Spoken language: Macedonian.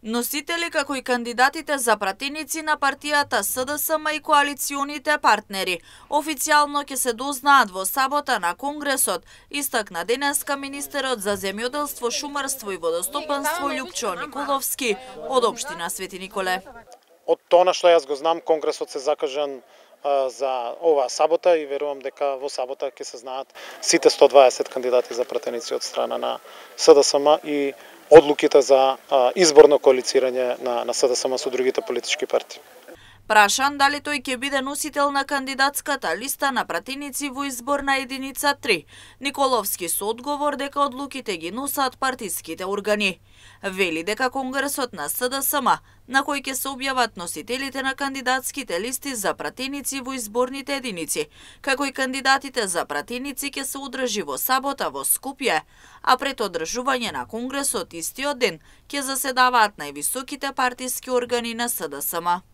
Носители како и кандидатите за пратеници на партијата СДСМ и коалиционите партнери официјално ќе се дознаат во сабота на Конгресот, истакна денеска министерот за земјоделство, шумарство и водостопанство Љупчо Николовски од општина Свети Николе. Од тоа што јас го знам, Конгресот се закажан за оваа сабота и верувам дека во сабота ќе се знаат сите 120 кандидати за пратеници од страна на СДСМ и одлуките за изборно коалицирање на СДСМ со другите политички партии. Прашан дали тој ќе биде носител на кандидатската листа на пратеници во изборна единица 3, Николовски со одговор дека одлуките ги носат партиските органи. Вели дека Конгресот на СДСМ, на кој ќе се објават носителите на кандидатските листи за пратеници во изборните единици, како и кандидатите за пратеници ќе се одржи во сабота во Скопје, а пред одржување на Конгресот истиот ден ќе заседаваат највисоките партиски органи на СДСМ.